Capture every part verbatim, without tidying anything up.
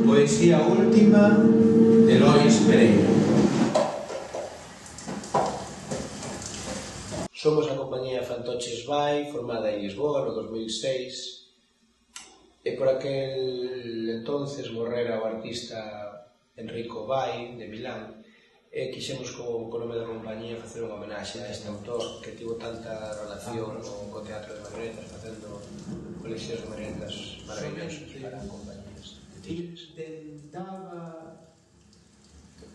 Poesía última de Lois Pereira. Somos a compañía Fantoches Vai, formada en Lisboa no dos mil seis, e por aquel entonces morrera o artista Enrico Vai, de Milán, e quixemos co, co nome da compañía facer unha homenaxe a este autor que tivo tanta relación co, co teatro de marionetas, facendo coleccións de marionetas maravillosas para compañías de tigres.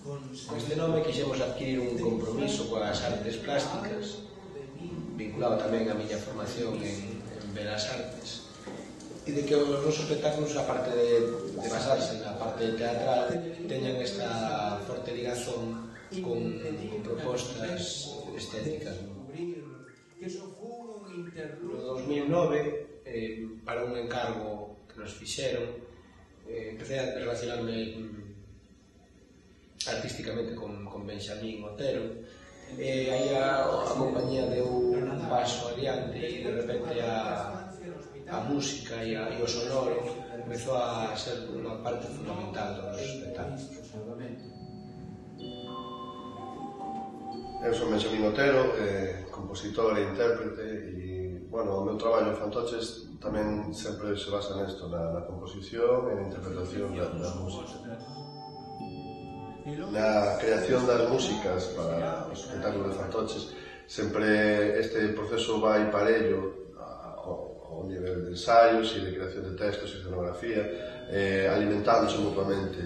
Con este nome quixemos adquirir un compromiso coas artes plásticas, vinculado tamén a miña formación en, en Belas Artes, e de que os nosos espectáculos, aparte de, de basarse na parte teatral, teñan esta forte ligazón con, con propostas estéticas. No dos mil nove, eh, para un encargo que nos fixeron, eh, empecé a relacionarme artísticamente con, con Benxamín Otero, e aí a, a compañía deu un paso adiante e de repente a, a música e, a, e o sonoro empezou a ser unha parte fundamental dos espectáculos. Eu son Benxamín Otero, eh, compositor e intérprete, e, bueno, o meu traballo en Fantoches tamén sempre se basa nesto, na, na composición e na interpretación da, da música. Na creación das músicas para os espectáculos de Fantoches, sempre este proceso vai parello ao nivel de ensaios e de creación de textos e escenografía, eh, alimentándose mutuamente.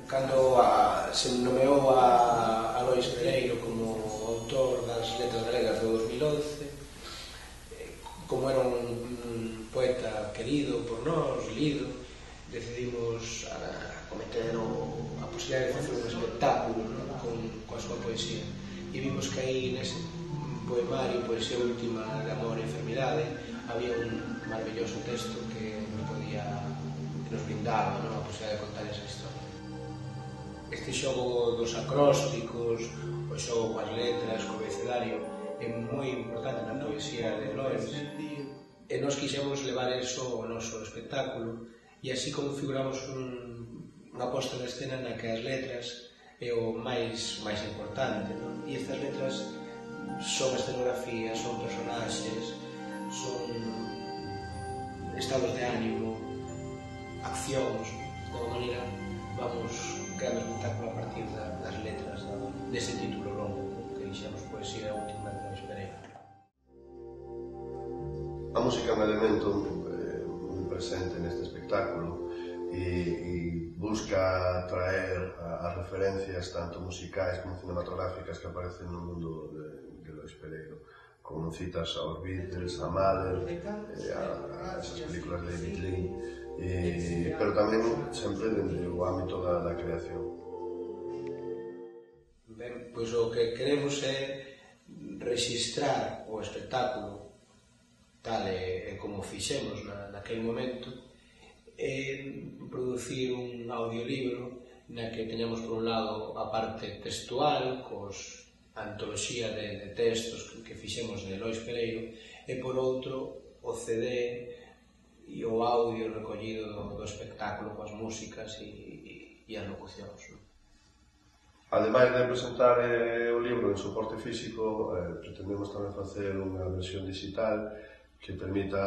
Cando a, se nomeou a, a Lois Pereira como autor das letras galegas do dos mil once, como era un, un poeta querido por nós, lido, decidimos a, a cometer o, a posibilidade de facer un espectáculo, ¿no? con, coa súa poesía, e vimos que aí nese poemario, Poesía última de amor e enfermidade, había un maravilloso texto que nos podía, que nos brindaba, ¿no? A posibilidade de contar esa historia. Este xogo dos acrósticos, o xogo coas letras, co abecedario, é moi importante na poesía de Lois, e nós quixemos levar eso ao noso espectáculo, e así configuramos un, unha posta de escena na que as letras é o máis, máis importante, non? E estas letras son escenografías, son personaxes, son estados de ánimo, accións. De alguma maneira vamos creando espectáculo a partir da, das letras da, dese título longo que dixemos Poesía última de Lois Pereira. A música é un elemento eh, moi presente neste espectáculo e, e busca traer as referencias tanto musicais como cinematográficas que aparecen no mundo de, de Lois Pereira, como citas aos Beatles, a Mahler, eh, a, a esas películas de David Lean, eh, pero tamén sempre dentro do ámbito da, da creación. Ben, pois o que queremos é rexistrar o espectáculo tal e, e como fixemos na, naquele momento, e producir un audiolibro na que teñamos por un lado a parte textual, cos antoloxía de, de textos que, que fixemos de Lois Pereira, e por outro o C D e o audio recollido do, do espectáculo coas músicas e, e, e as locucións. Ademais de presentar eh, o libro en soporte físico, eh, pretendemos tamén facer unha versión digital que permita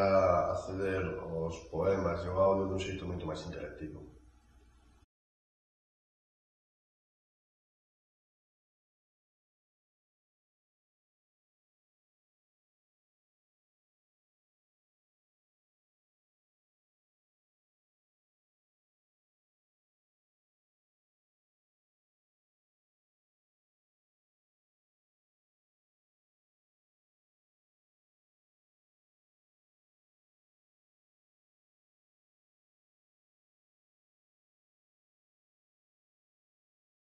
acceder aos poemas e ao audio dun xeito moito máis interactivo.